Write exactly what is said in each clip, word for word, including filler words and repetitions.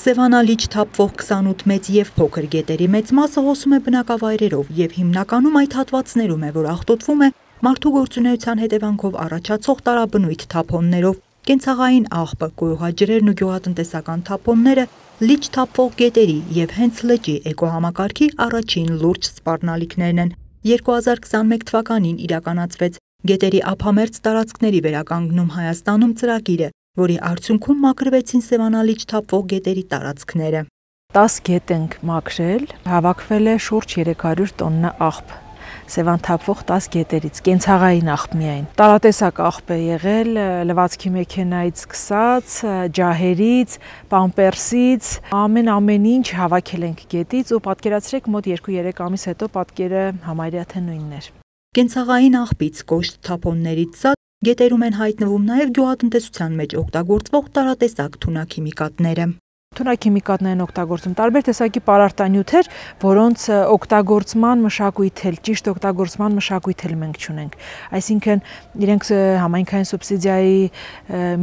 Սևանալիճ թափվող քսանութ մեծ և փոքր գետերի մեծ մասը հոսում է բնակավայրերով և հիմնականում այդ հատվածներում է, որ աղտոտվում է մարդու գործունեության հետևանքով առաջացող տարաբնույթ թափոններով, կենցաղային աղբը, գոյուղաջրերն ու գյուղատնտեսական թափոնները, լիճ թափվող գետերի և հենց լճի էկոհամակարգի առաջին լուրջ սպառնալիքներն են։ երկու հազար քսանմեկ թվականին իրականացվեց գետերի ափամերձ տարածքների վերականգնում Հայաստանում ծրագիրը, որի արդյունքում մաքրվեցին Սևանալիճ թափվող գետերի տարածքները։ տաս գետ ենք մաքրել, հավաքվել է շուրջ երեք հարյուր տոննա աղբ։ Սևան թափվող տաս գետերից, կենցաղային աղբ միայն։ Տարատեսակ աղբ է եղել, լվացքի մեքենայից սկսած, ջահերից, պամպերսից, ամեն ամեն ինչ հավաքել ենք գետից ու պատկերացրեք մոտ երկու-երեք ամիս հետո պատկերը համարյա թե նույնն էր։ Կենցաղային աղբից կոշտ թափոններից զատ գետերում են հայտնվում նաև գյուղատնտեսության մեջ օգտագործվող տարատեսակ թունաքիմիկատները։ Թունաքիմիկատներ են օգտագործում տարբեր տեսակի պարարտանյութեր, որոնց օգտագործման մշակույթ էլ, ճիշտ օգտագործման մշակույթ էլ մենք չունենք։ Այսինքն իրենք համայնքային սուբսիդիայի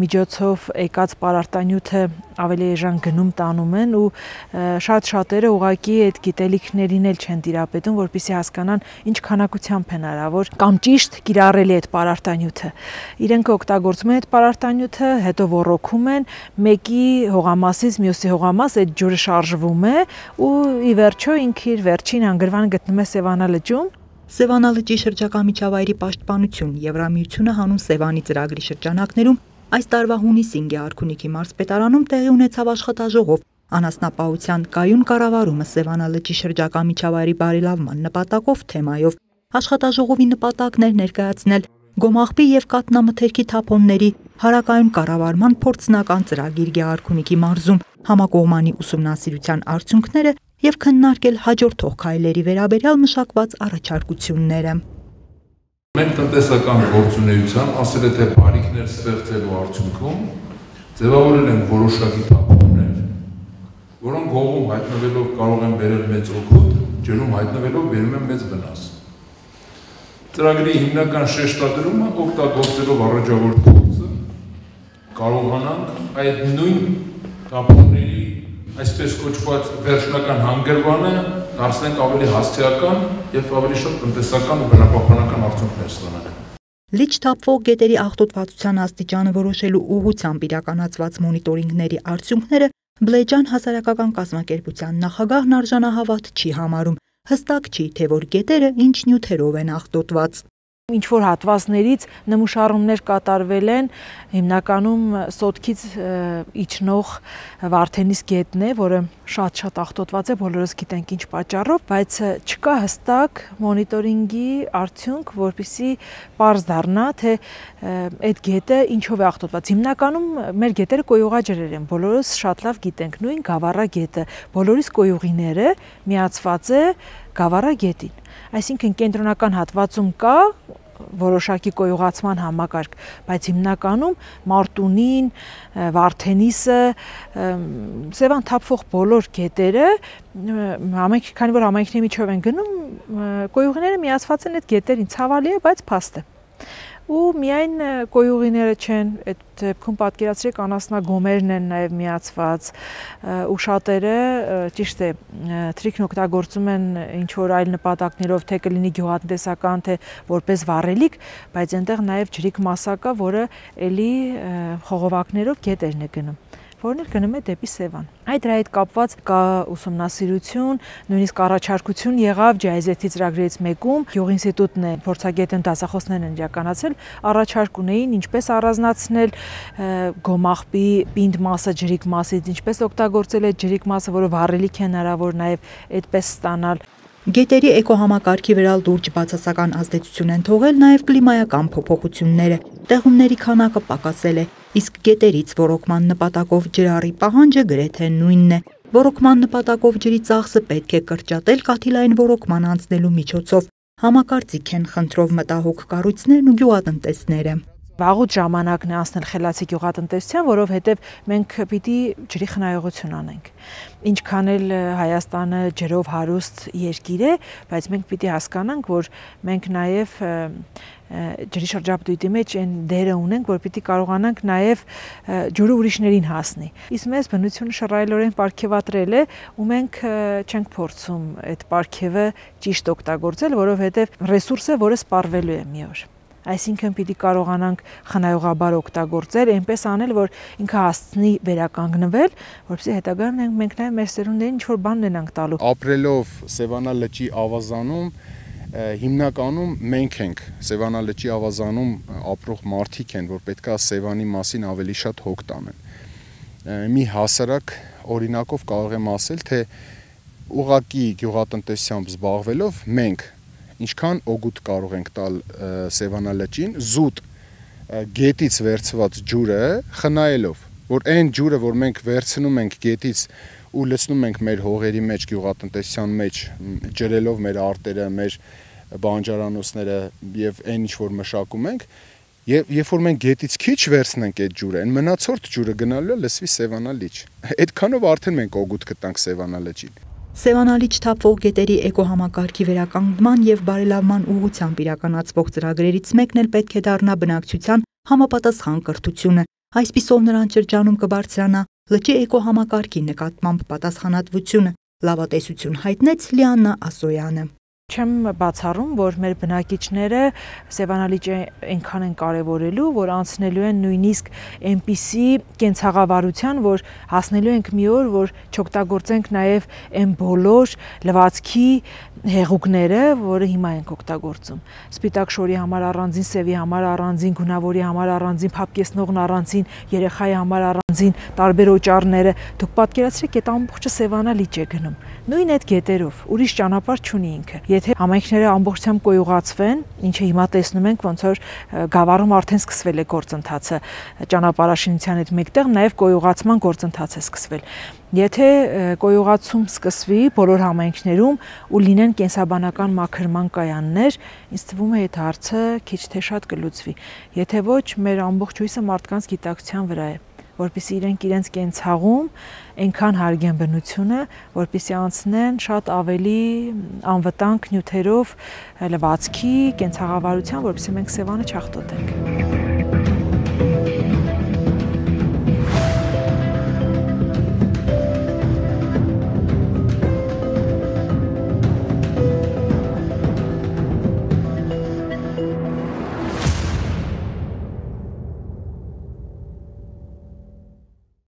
միջոցով եկած պարարտանյութը ավելի էժան գնում տանում են ու շատ շատերը ուղղակի այդ գիտելիքներին էլ չեն տիրապետում, որպեսզի հասկանան ինչ քանակությամբ են հնարավոր կամ ճիշտ կիրառելի այդ պարարտանյութը։ Իրենք օգտագործում են այդ պարարտանյութը, հետո ոռոգում են, մեկի հողամասից մյուսի հողամաս այդ ջուրը շարժվում է ու ի վերջո ինքը իր վերջին հանգրվանը գտնում է Սևանալճում։ Սևանալճի շրջակա միջավայրի պաշտպանություն Եվրամիությունը հանուն Սևանի ծրագրի շրջանակներում այս տարվա հունիսին Գեղարքունիքի մարզպետարանում տեղի ունեցավ աշխատաժողով անասնապահության կայուն կառավարումը Սևանալճի շրջակա միջավայրի բարելավման նպատակով թեմայով։ Աշխատաժողովի նպատակն էր ներկայացնել գոմաղբի և կաթնամթերքի թափոնների հարակայուն կառավարման փորձնական ծրագիր Գեղարքունիքի մարզում, համակողմանի ուսումնասիրության արդյունքները և քննարկել հաջորդող քայլերի վերաբերյալ մշակված առաջարկությունները։ Մենք տնտեսական գործունեության, ասել է թե բարիքներ ստեղծելու արդյունքում ձևավորել են որոշակի թափոններ, որոնք հողում հայտնվելով կարող են բերել մեծ օգուտ, ջրում հայտնվելով բերում են մեծ վնաս։ Ծրագրի հիմնական շեշտադրումը օգտագործելով առաջավոր փորձը կարողանանք այդ նույն թափոնների այսպես կոչված վերջնական հանգրվանը դարձնենք ավելի հասցեական և ավելի շատ տնտեսական ու բնապահպանական արդյունքներ ստանանք։ Լիճ թափվող գետերի աղտոտվածության աստիճանը որոշելու ուղղությամբ իրականացված մոնիտորինգների արդյունքները Բլեջան հասարակական կազմակերպության նախագահն արժանահավատ չի համարում։ Հստակ չի, թե որ գետերը ինչ նյութերով են աղտոտված։ Ինչ որ հատվածներից նմուշառումներ կատարվել են, հիմնականում Սոտքից իջնող Վարդենիս գետն է, որը շատ-շատ աղտոտված է, բոլորս գիտենք ինչ պատճառով, բայց չկա հստակ մոնիտորինգի արդյունք, որպեսզի պարզ դառնա, թե այդ գետը ինչով է աղտոտված։ Հիմնականում մեր գետերը կոյուղաջրեր են, բոլորս շատ լավ գիտենք, նույն Գավառա գետը, բոլորիս կոյուղիները միացված է Գավառա գետին։ Այսինքն կենտրոնական հատվածում կա որոշակի կոյուղացման համակարգ, բայց հիմնականում Մարտունին, Վարդենիսը, Սևան թափվող բոլոր գետերը, քանի որ համայնքների միջով են գնում, կոյուղիները միացված են այդ գետերին, ցավալի է, բայց փաստ է։ Ու միայն կոյուղիները չեն, այդ դեպքում պատկերացրեք անասնագոմերն են նաև միացված ու շատերը ճիշտ է թրիքն օգտագործում են ինչ որ այլ նպատակներով, թե կլինի գյուղատնտեսական, թե որպես վառելիք, բայց այնտեղ նաև ջրիկ մասա կա, որը էլի խողովակներով գետերն է գնում, որն էլ գնում է դեպի Սևան։ Այդ դրա հետ կապված կա ուսումնասիրություն, նույնիսկ առաջարկություն եղավ ջի այ զեդ-ի ծրագրերից մեկում, գյուղինստիտուտն է, փորձագետն դասախոսներն են իրականացրել, առաջարկ ունեին ինչպես առանձնացնել գոմաղբի պինդ մասը ջրիկ մասից, ինչպես օգտագործել այդ ջրիկ մասը, որը վառելիք է հնարավոր նաև այդպես ստանալ։ Գետերի էկոհամակարգի վրա լուրջ բացասական ազդեցություն են թողել նաև կլիմայական փոփոխությունները։ Տեղումների քանակը պակասել է, իսկ գետերից ոռոգման նպատակով ջրառի պահանջը գրեթե նույնն է։ Ոռոգման նպատակով ջրի ծախսը պետք է կրճատել կաթիլային ոռոգման անցնելու միջոցով, համակարծիք են խնդրով մտահոգ կառույցներն ու գյուղատնտեսները։ Վաղուց ժամանակն է անցնել խելացի գյուղատնտեսության, որովհետև մենք պիտի ջրի խնայողություն անենք։ Ինչքան էլ Հայաստանը ջրով հարուստ երկիր է, բայց մենք պիտի հասկանանք, որ մենք նաև ջրի շրջապտույտի մեջ այն դերը ունենք, որ պիտի կարողանանք նաև ջուրը ուրիշներին հասնի։ Իսկ մեզ բնությունը շռայլորեն պարգևատրել է, ու մենք չենք փորձում այդ պարգևը ճիշտ օգտագործել, որովհետև ռեսուրս է, որը սպառվելու է մի օր։ Այսինքն պիտի կարողանանք խնայողաբար օգտագործել, այնպես անել, որ ինքը հասցնի վերականգնվել, որպեսզի հետագայում մենք նաև մեր սերունդերին ինչ-որ բան ունենանք տալու։ Ապրելով Սևանա լճի ավազանում, հիմնականում մենք ենք Սևանա լճի ավազանում ապրող մարդիկ են, որ պետքա Սևանի մասին ավելի շատ հոգ տանեն։ Մի հասարակ օրինակով կարող եմ ասել, թե ուղղակի գյուղատնտեսությամբ զբաղվելով մենք ինչքան օգուտ կարող ենք տալ Սևանա լճին, զուտ գետից վերցված ջուրը խնայելով, որ այն ջուրը, որ մենք վերցնում ենք գետից ու լցնում ենք մեր հողերի մեջ, գյուղատնտեսության մեջ, ջրելով մեր արտերը, մեր բանջարանոցները եւ այն ինչ որ մշակում ենք, եւ երբ որ մենք գետից քիչ վերցնենք այդ ջուրը, այն մնացորդ ջուրը գնալու է լսվի Սևանա լիճ։ Այդքանով արդեն մենք օգուտ կտանք Սևանա լճին։ Սևանա լիճ թափվող գետերի էկոհամակարգի վերականգնման եւ բարելավման ուղղությամբ իրականացվող ծրագրերից մեկն էլ պետք է դառնա բնակչության համապատասխան կրթությունը։ Այսպիսով նրանց շրջանում կբարձրանա լճի էկոհամակարգի նկատմամբ պատասխանատվությունը, լավատեսություն հայտնեց Լիաննա Ասոյանը։ Չեմ բացառում, որ մեր բնակիչները Սևանա լիճը այնքան են կարևորելու, որ անցնելու են նույնիսկ այնպիսի կենցաղավարության, որ հասնելու ենք մի օր, որ չօգտագործենք նաև այն բոլոր լվացքի հեղուկները, որը հիմա ենք օգտագործում։ Սպիտակ շորի համար առանձին, սևի համար առանձին, գունավորի համար առանձին, փափկեցնողն առանձին, երեխայի համար առանձին, տարբեր օճառները։ Դուք պատկերացրեք, այդ ամբողջը Սևանա լիճ է գնում։ Նույն այդ գետերով, ուրիշ ճանապարհ չունի ինքը։ Եթե համայնքները ամբողջությամբ կոյուղացվեն, ինչը հիմա տեսնում ենք, ոնց որ Գավառում արդեն սկսվել է գործընթացը, ճանապարհաշինության հետ մեկտեղ նաև կոյուղացման գործընթաց է սկսվել։ Եթե կոյուղացում սկսվի բոլոր համայնքներում ու լինեն կենսաբանական մաքրման կայաններ, ինձ թվում է այդ հարցը քիչ թե շատ կլուծվի։ Եթե ոչ, մեր ամբողջ հույսը մարդկանց գիտակցության վրա է, որպեսզի իրենք իրենց կենցաղում այնքան հարգեն բնությունը, որպեսզի անցնեն շատ ավելի անվտանգ նյութերով լվացքի, կենցաղավարության, որպեսզի մենք Սևանը չախտոտենք։